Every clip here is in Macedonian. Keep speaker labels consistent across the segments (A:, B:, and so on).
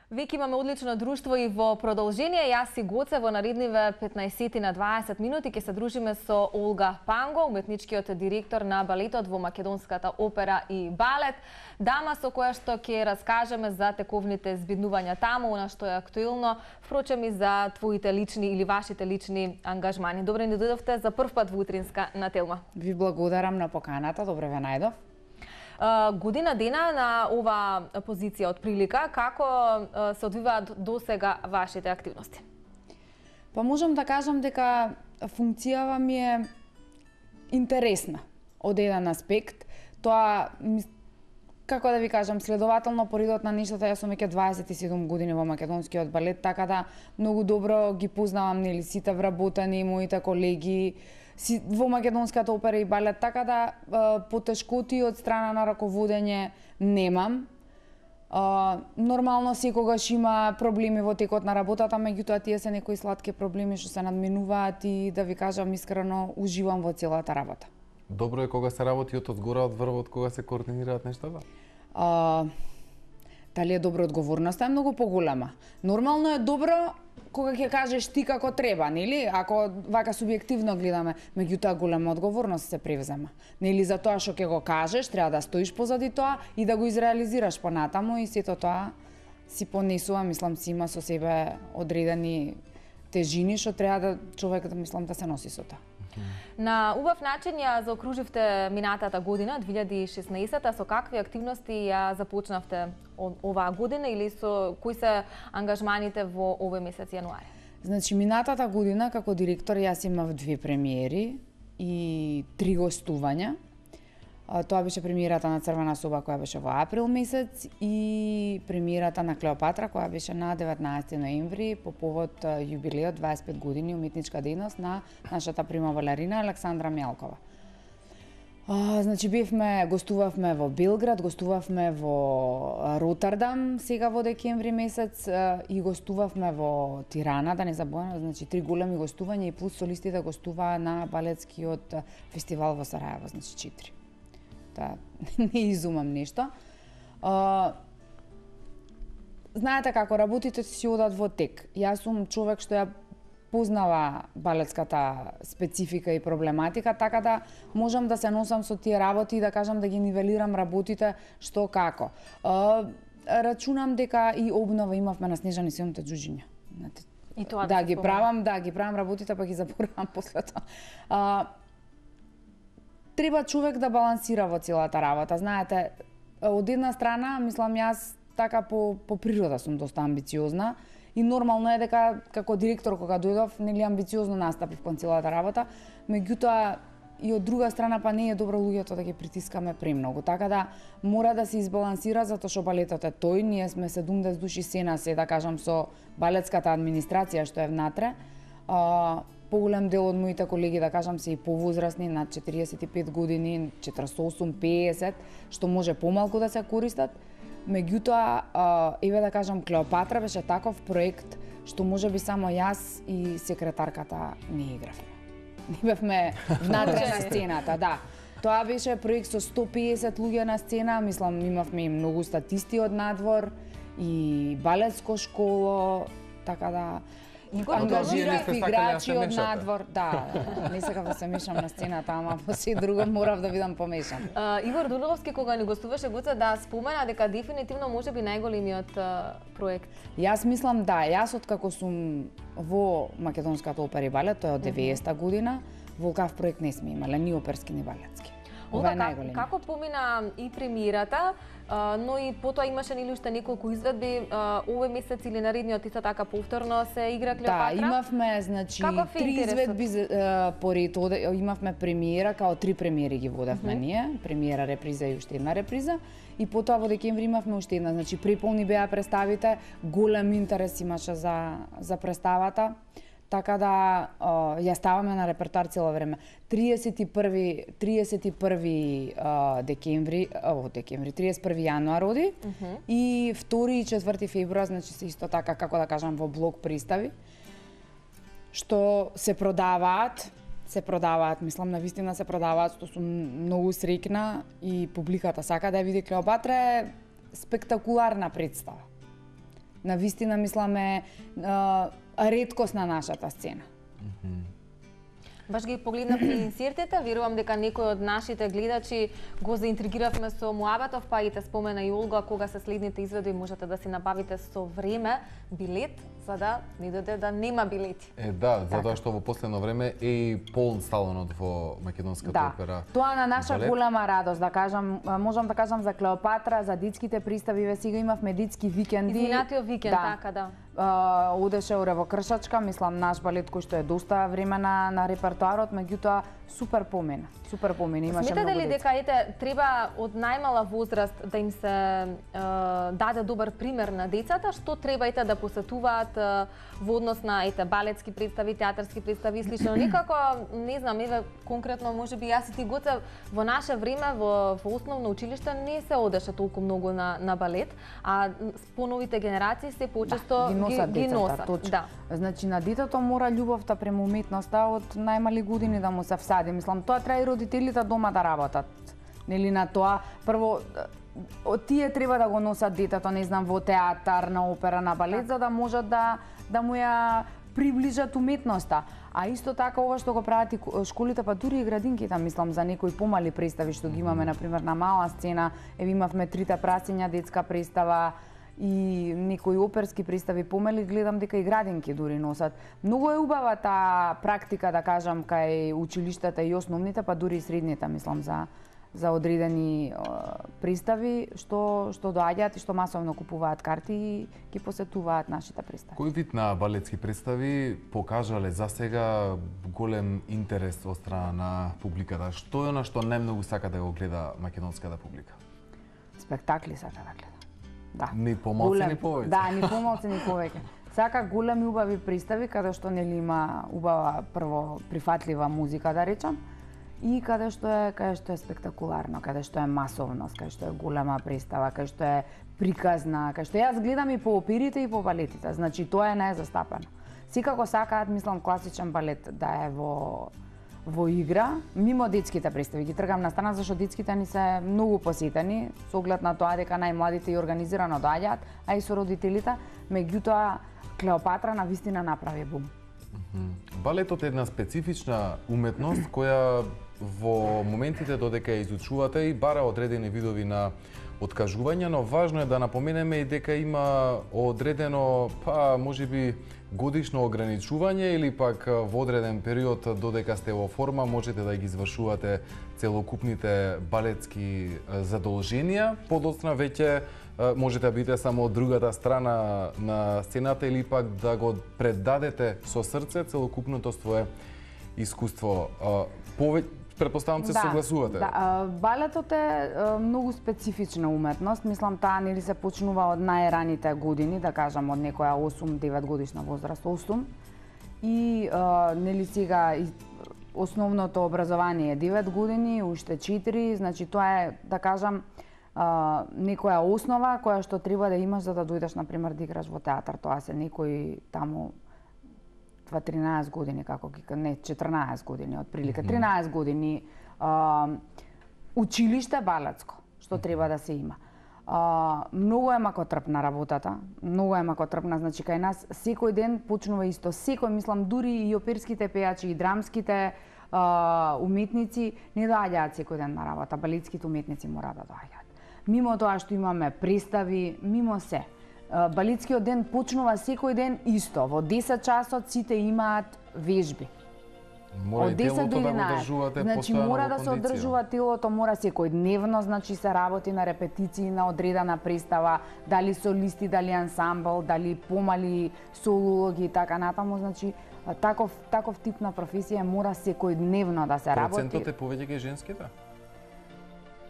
A: Веќе имаме одлично друштво и во продолжение. Јас и Гоце во наредниве 15 на 20 минути ќе се дружиме со Олга Панго, уметничкиот директор на балетот во Македонската опера и балет. Дама со која што ќе раскажеме за тековните збиднувања таму, она што е актуелно, впрочем и за твоите лични или вашите лични ангажмани. Добре ни дојдовте за прв пат во утринска на Телма.
B: Ви благодарам на поканата, добре ве најдов.
A: Година дена на ова позиција од прилика, како се одвиваат досега вашите активности?
B: Па можам да кажам дека функцијава ми е интересна од еден аспект. Тоа, како да ви кажам, следователно по редот на нештата, јас сум веќе 27 години во македонскиот балет, така да многу добро ги познавам нели сите вработени, моите колеги во Македонската опера и балет, така да потешкоти од страна на раководење немам. Нормално секогаш има проблеми во текот на работата, меѓутоа тие се некои сладки проблеми што се надминуваат и да ви кажам искрено уживам во целата работа.
C: Добро е кога се работи од згора, од врвот, кога се координираат нештата?
B: Дали е добро, одговорноста е многу поголема. Нормално е добро кога ќе кажеш ти како треба, нели? Ако вака субјективно гледаме, меѓутоа голема одговорност се превзема. Нели за тоа што ќе го кажеш, треба да стоиш позади тоа и да го изреализираш понатаму и сето тоа си понесува, мислам си има со себе одредени тежини што треба да човек да се носи со тоа.
A: На убав начин ја заокруживте минатата година, 2016-та, со какви активности ја започнавте оваа година или со кои се ангажманите во овој месец јануари?
B: Значи, минатата година како директор јас имав 2 премиери и 3 гостувања. Тоа беше премиерата на Црвена соба која беше во април месец и премиерата на Клеопатра која беше на 19 ноември по повод јубилеот 25 години уметничка дејност на нашата прима балерина Александра Мјалкова. Значи гостувавме во Белград, гостувавме во Роттердам сега во декември месец и гостувавме во Тирана, да не заборавам, значи 3 големи гостувања и плюс солистите гостуваа на балетскиот фестивал во Сараево, значи 4. Не изумам нешто. Знаете како работите си одат во тек. Јас сум човек што ја познава балетската специфика и проблематика, така да можам да се носам со тие работи и да кажам да ги нивелирам работите што како. Рачунам дека и обнова имавме на Снежани силните џуџиња.
A: И тоа
B: да ги правам работите, па ги заборавам после тоа. Треба човек да балансира во целата работа. Знаете, од една страна, мислам јас така по природа сум доста амбициозна и нормално е дека како директор кога дојдов, нели амбициозно настапив кон целата работа, меѓутоа и од друга страна па не е добро луѓето да ги притискаме премногу. Така да мора да се избалансира затоа што балетот е тој, ние сме 70 души сена се, да кажам, со балетската администрација што е внатре. Поголем дел од моите колеги, да кажам, се и повозрасни, над 45 години, 48, 50, што може помалку да се користат. Меѓутоа, еве да кажам, Клеопатра беше таков проект што можеби само јас и секретарката не игравме. Не бевме внатре на сцената, да. Тоа беше проект со 150 луѓе на сцена, мислам имавме и многу статисти од надвор и балетско школо, така да ангажирав играчи од надвор, да, не сакав да се мешам на сцената, ама по се друго морав да бидам помешан.
A: Игор Дуловски кога ни гостуваше Гоце да спомена дека дефинитивно можеби најголемиот проект.
B: Јас мислам да, јас откако сум во Македонската опера и балет, тоа е од 90-та година, волкав проект не сме имале, ни оперски, ни балетски. Ова е најголем.
A: Како помина и премиерата, но и потоа имаше нели уште неколку изведби овој месец или наредниот исто така повторно се игра Клеопатра?
B: Да, имавме значи 3 изведби поред, имавме премиера, као 3 премиери ги водевме ние, премиера, реприза и уште една реприза, и потоа во декември имавме уште една, значи преполни беа представите, голем интерес имаше за представата. Така да ја ставаме на репертоар цело време. 31 декември, 31 јануар оди и 2 и 4 февруар, значи се исто така, како да кажам, во блок представи, што се продаваат, мислам навистина се продаваат, што сум многу среќна и публиката сака да ја види. Клеопатра е спектакуларна представа. На вистина мислам е реткост на нашата сцена.
A: Баш ги погледнавме инсертите, верувам дека некој од нашите гледачи го заинтригиравме со муабатов, па и те спомена и Олга, кога се следните изведби можете да си набавите со време билет, за да не дојде да нема билети.
C: Да, затоа што во последно време е и полн салонот во Македонската опера.
B: Тоа на наша голема радост, да кажам, можам да кажам за Клеопатра, за детските представи, сега имавме детски викенди.
A: Изминатиот викенд, така да.
B: Одеше во Кршачка, мислам наш балет кој што е доста време на репертоарот, меѓутоа супер помена, имаше
A: Сметате
B: многу
A: ли дека треба од најмала возраст да им се даде добар пример на децата, што треба да посетуваат во однос на балетски представи, театарски представи и слично? Никако, не знам, конкретно можеби јас и ти Гоце, во наше време во основно училиште не се одеше толку многу на балет, а поновите генерации се почесто ги носат.
B: Да. Значи на детето мора љубовта према уметноста од најмали години да му се всади. Мислам, тоа треба и родителите дома да работат. Нели на тоа прво тие треба да го носат детето, не знам, во театар, на опера, на балет, за да можат да му ја приближат уметноста. А исто така ова што го прават и школите, па дури и градинките, мислам, за некои помали представи што ги имаме, например, на мала сцена, имавме Трите прасиња детска представа, и некои оперски представи помали, гледам дека и градинки дури носат. Многу е убава таа практика, да кажам, кај училиштата и основните, па дури и средните, мислам, за одредени представи што доаѓаат и што масовно купуваат карти и ги посетуваат нашите представи.
C: Кој вид на балетски представи покажале за сега голем интерес од страна на публиката? Што е она што најмногу сака да го гледа македонската публика?
B: Спектакли сака да гледа. Да.
C: Ни помалку, ни повеќе.
B: Да, ни помалку, ни повеќе. Сака големи убави представи каде што нели има убава прво прифатлива музика, да речам, и каде што е спектакуларно, каде што е масовност, каде што е голема представа, каде што е приказна, каде што јас гледам и по оперите и по балетите. Значи тоа е најзастапено. Секако сакаат, мислам, класичен балет да е во игра, мимо детските представи. Ги тргам на страна зашто детските ни се многу посетени, со оглед на тоа дека најмладите и организирано доаѓаат, а и со родителите, меѓутоа Клеопатра на вистина направи бум.
C: Балетот е една специфична уметност која во моментите додека ја изучувате и бара одредени видови на откажување, но важно е да напоменеме и дека има одредено, па можеби годишно ограничување или пак во одреден период додека сте во форма можете да ги извршувате целокупните балетски задолженија. Подоцна веќе можете да бидете само од другата страна на сцената или пак да го предадете со срце целокупното свое искуство. Предпоставам се согласувате.
B: Да, балетот е многу специфична уметност. Мислам, таа нели се почнува од најраните години, да кажам од некоја 8-9 годишна возраст, 8. И нели сега основното образование е 9 години, уште 4, значи тоа е, да кажам, некоја основа која што треба да имаш за да дојдеш, например, да играш во театар. Тоа се некои таму 13 години, како ги, не, 14 години, отприлика, 13 години училиште балетско, што треба да се има. Многу е макотрпна работата, значи кај нас секој ден почнува исто, секој, мислам, дури и оперските пејачи и драмските уметници не доаѓаат секој ден на работа, балетските уметници мора да доаѓаат. Мимо тоа што имаме представи, мимо се. Балетскиот ден почнува секој ден исто. Во 10 часот сите имаат вежби.
C: Мора и телото да го одржувате постојано во кондиција.
B: Значи мора да се одржува телото, мора секојдневно, значи се работи на репетиции на одредена представа, дали солисти, дали ансамбл, дали помали солологи и така натаму, значи таков тип на професија мора секојдневно да се работи.
C: Процентот е повеќе кај женските?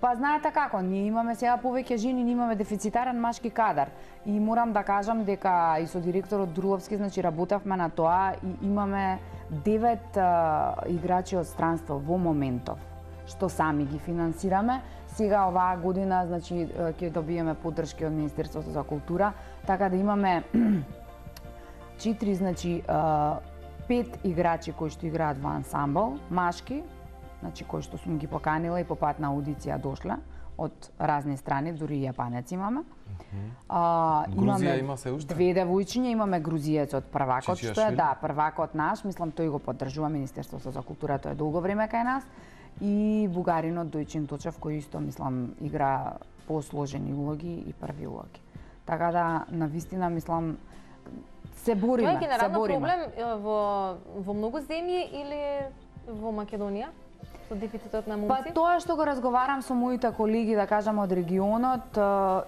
B: Па знаете како, ние имаме сега повеќе жени, ние имаме дефицитарен машки кадар. И морам да кажам дека и со директорот Друловски, значи работевме на тоа и имаме 9 играчи од странство во моментов, што сами ги финансираме. Сега оваа година, значи ќе добиеме поддршки од Министерството за култура, така да имаме 4, значи 5 играчи кои што играат во ансамбл, машки, значи кои што сум ги поканила и по пат на аудиција дошле од разни страни, дури и јапанец имаме.
C: Грузија има се уште?
B: 2 девојчиња, имаме грузиецот првакот,
C: Чичија
B: што е
C: Швили?
B: да, првакот наш, мислам тој го поддржува Министерството за култура, тој е долго време кај нас, и бугаринот Дојчин Точев кој исто мислам игра посложени улоги и први улоги. Така да навистина мислам се бориме,
A: Тоа е генерално
B: бориме.
A: проблем во многу земји или во Македонија со дефицитот на
B: Па
A: момци?
B: тоа што го разговарам со моите колеги, да кажам од регионот,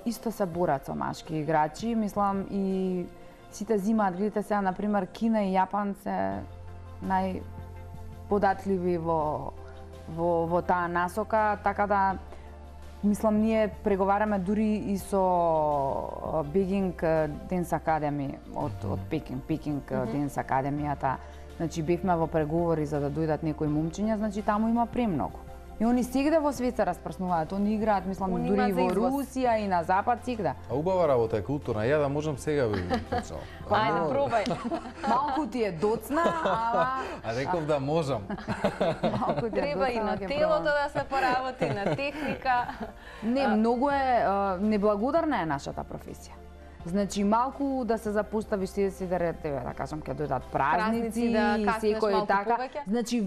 B: исто се борат со машки играчи, мислам и сите зимаат, видите сега на пример Кина и Јапан се најподатливи во таа насока, така да мислам ние преговараме дури и со Бегинг Денс Академи од Пекинг Денс Академијата. Значи бевме во преговори за да дојдат некои момчиња, значи таму има премногу. И они сигде во свет се распрснуваат, они играат, мислам,
A: Они
B: дури
A: имаат за
B: во
A: извоз.
B: Русија и на запад сигде.
C: А убава работа е културна. Ја да можам сега би почнал.
A: Ајде, пробај.
B: Малку ти е доцна, ала
C: А реков да можам.
B: малку ти е
A: Треба и
B: доцна,
A: на
B: ќе
A: телото
B: пробам.
A: да се поработи, на техника.
B: Не, многу е неблагодарна е нашата професија. Значи малку да се запоставиш си да кажам ќе дојдат празници
A: Празници, да
B: и
A: каснеш
B: секој
A: малку
B: така.
A: повеќе.
B: Значи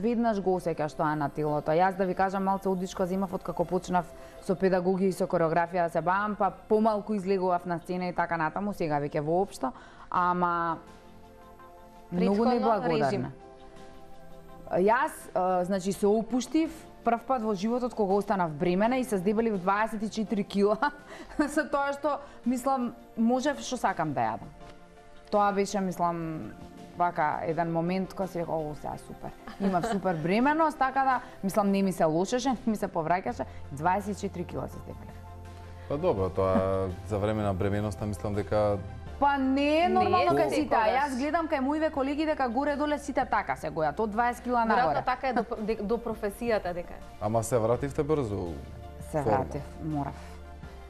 B: веднаш го осеќаш тоа на телото. Јас да ви кажам малце удичко земав од како почнав со педагогија и со кореографија да се бавам, па помалку излегував на сцена и така натаму, сега веќе воопшто, ама многу
A: Претходно
B: неблагодарна.
A: режим.
B: Јас, значи, се опуштив прв пат во животот кога останав бремена и се здебелив 24 кила со тоа што, мислам, можев што сакам да јадам. Тоа беше, мислам, вака еден момент кога си рекол, о, сега супер. Имав супер бременост, така да, мислам, не ми се лошеше, не ми се повраќаше, 24 кила се здебелив.
C: Па добро, тоа за време на бременоста мислам дека
B: Па не е нормално
A: Не е
B: кај сите, а
A: секогаш.
B: јас гледам кај моите колеги дека горе-доле сите така се гојат, од 20 кила нагоре.
A: Веројатно така е до професијата дека е.
C: ама се вративте брзо.
B: Се
C: форма.
B: вратив, морав.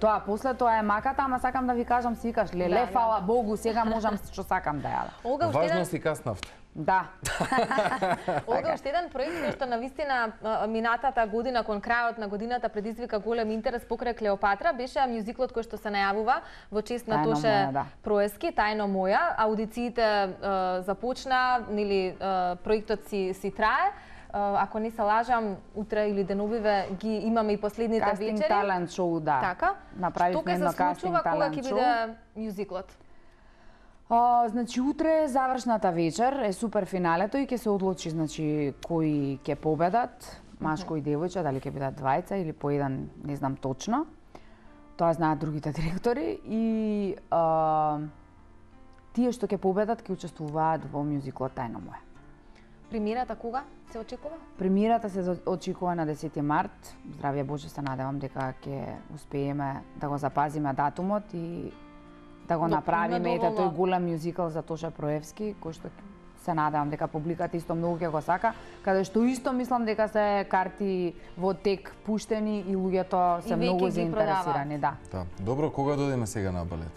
B: Тоа после тоа е маката, ама сакам да ви кажам, си викаш, леле,
A: Да,
B: фала Богу, сега можам што сакам да јадам.
A: Олга, уште
C: Важно
A: еден,
C: си каснавте.
B: Да.
A: Олга, уште еден проект кој што навистина минатата година кон крајот на годината предизвика голем интерес покрај Клеопатра беше мюзиклот кој што се најавува во чест на
B: Тајно
A: Тоше
B: моја, да.
A: Проески, Тајно моја. Аудициите започна, нели проектот си трае. Ако не се лажам, утре или деновиве ги имаме и последните
B: Кастинг
A: вечери.
B: талент шоу, да.
A: Така?
B: Направивме едно
A: Што ќе се
B: кастинг
A: случува кога
B: талент
A: ќе
B: шоу.
A: биде мюзиклот?
B: Значи утре е завршната вечер, е супер финалето и ќе се одлучи значи кои ќе победат, машко и девојче, дали ќе бидат двајца или по еден, не знам точно. Тоа знаат другите директори и тие што ќе победат ќе учествуваат во мюзиклот Тајно моја.
A: Премиерата кога се очекува?
B: Премиерата се очекува на 10 март. Здравје Боже, се надевам дека ќе успееме да го запазиме датумот и да го направиме ете тој голем мюзикл за Тоша Проевски, кој што се надевам дека публиката исто многу ќе го сака, каде што исто мислам дека се карти во тек пуштени и луѓето се
A: И веќе
B: многу
A: ги
B: заинтересирани, да.
C: Да. Добро, кога дојдеме сега на балет?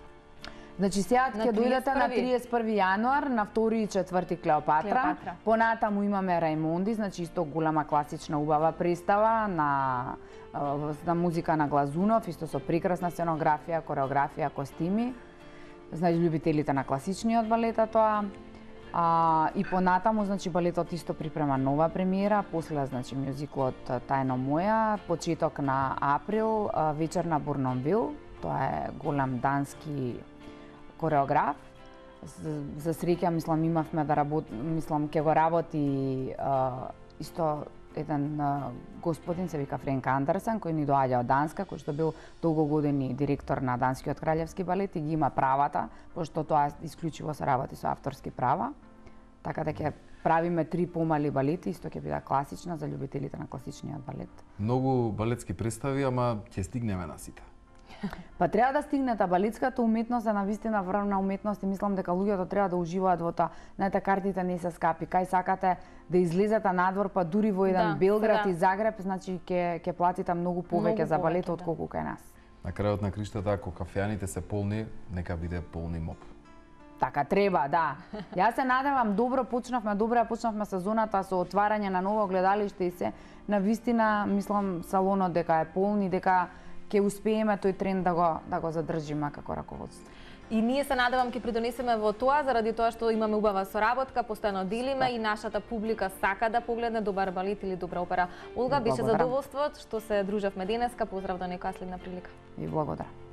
B: Значи сега
A: На
B: ќе дојдете на
A: 31.
B: 31 јануар, на 2 и 4 Клеопатра.
A: Клеопатра.
B: Понатаму имаме Рајмонди, значи исто голема класична убава представа на музика на Глазунов, исто со прекрасна сценографија, кореографија, костими. Значи љубителите на класичниот балета тоа. И понатаму, значи, балетот исто припрема нова премиера, после, значи, мюзиклот Тајно моја, почеток на април, вечер на Бурнонвил, тоа е голем дански кореограф. За среќа, мислам, имавме да мислам, ќе го работи исто еден господин, се вика Френк Андерсен, кој ни доаѓа од Данска, кој што бил долго години директор на Данскиот краљевски балет и ги има правата, пошто тоа исклучиво се работи со авторски права. Така да ќе правиме 3 помали балети, исто ќе биде класична за љубителите на класичниот балет.
C: Многу балетски представи, ама ќе стигнеме на сите.
B: Па треба да стигнете, балетската уметност е навистина врвна уметност и мислам дека луѓето треба да уживаат во тоа. Знаете, картите не се скапи. Кај сакате да излезете надвор, па дури во еден
A: Да,
B: Белград
A: да.
B: и Загреб, значи ќе платите многу повеќе
A: Многу
B: за балет
A: повеќе,
B: отколку кај нас.
C: На крајот на криштата, ако кафеаните се полни, нека биде полни моп.
B: Така треба, да. Јас се надевам, добро почнавме сезоната со отварање на ново гледалиште и се. На вистина, мислам, салонот дека е полн и дека ќе успееме тој тренд да го задржиме како раководство.
A: И ние се надевам ќе придонесеме во тоа, заради тоа што имаме убава соработка, постојано делиме и нашата публика сака да погледне добар балет или добра опера. Олга, беше задоволство што се дружевме денеска. Поздрав до некоја следна прилика.
B: И благодарам.